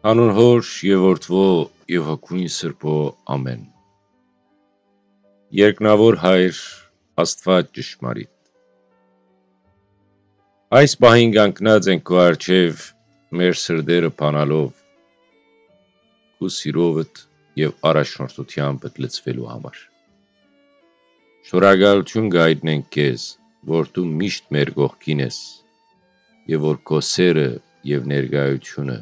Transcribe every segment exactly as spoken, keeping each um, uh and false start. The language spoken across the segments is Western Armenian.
Անուն Հոր եւ Որդուոյ եւ Հոգիին Սրբոյ, ամէն։ Երկնաւոր Հայր, Աստուած ճշմարիտ, այս պահին կանգնած ենք քու առջեւ, մեր սրտերը բանալով քու սիրովդ եւ առաջնորդութեամբդ լցուելու համար։ Շնորհակալութիւն կ'այտնենք քեզ, որ դու միշտ մեր կողքին ես եւ որ քո սէրը եւ ներկայութիւնը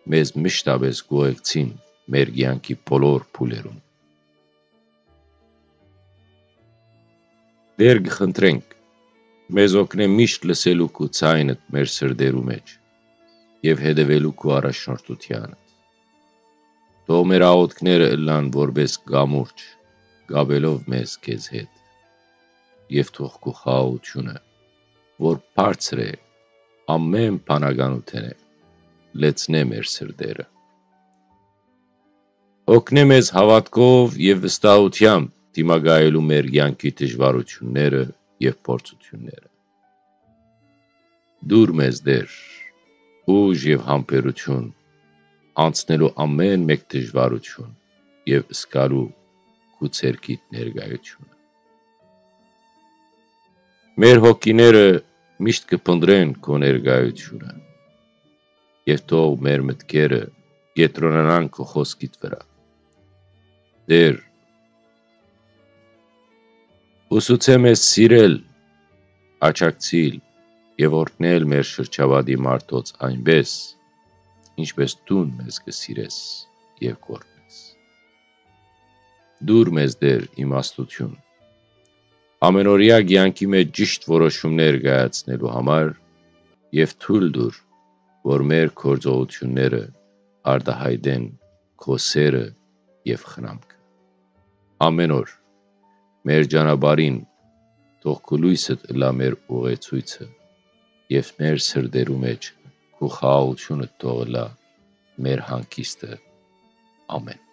մեզ մշտապէս կ'ուղեկցին մեր կեանքի բոլոր փուլերուն։ Տէր, կը խնդրենք, մեզ օգնէ միշտ լսելու քու ձայնդ մեր սրտերու մէջ եւ հետեւելու քու առաջնորդութեանդ։ Թող մեր աղօթքները ըլլան որպէս կամուրջ, կապելով մեզ քեզ հետ, եւ թող քու խաղաղութիւնը, որ բարձր է ամէն բանականութենէ, լեցնէ մեր սրտերը։ Օգնէ մեզ հաւատքով եւ վստահութեամբ դիմակայելու մեր կեանքի դժուարութիւնները եւ փորձութիւնները։ Տուր մեզ, Տէր, ուժ եւ համբերութիւն անցնելու ամէն մէկ դժուարութիւն եւ զգալու քու ձեռքիդ ներկայութիւնը։ Մեր հոգիները միշտ կը փնտռեն քո ներկայութիւնը եւ թող մեր մտքերը կեդրոնանան քո խօսքիդ վրայ։ Տէր, ուսուցէ մեզ սիրել, աջակցիլ եւ օրհնել մեր շրջապատի մարդոց այնպէս, ինչպէս դուն մեզ կը սիրես եւ կ'օրհնես։ Տուր մեզ, Տէր, իմաստութիւն, ամէնօրեայ կեանքի մէջ ճիշդ որոշումներ կայացնելու համար եւ թոյլ տուր, որ մեր գործողութիւնները արտայայտեն քո սէրը եւ խնամքը։ Ամէն օր մեր ճանապարհին թող քու լոյսդ ըլլայ մեր ուղեցոյցը եւ մեր սրտերու մէջ քու խաղաղութիւնդ թող ըլլայ մեր հանգիստը։ Ամէն։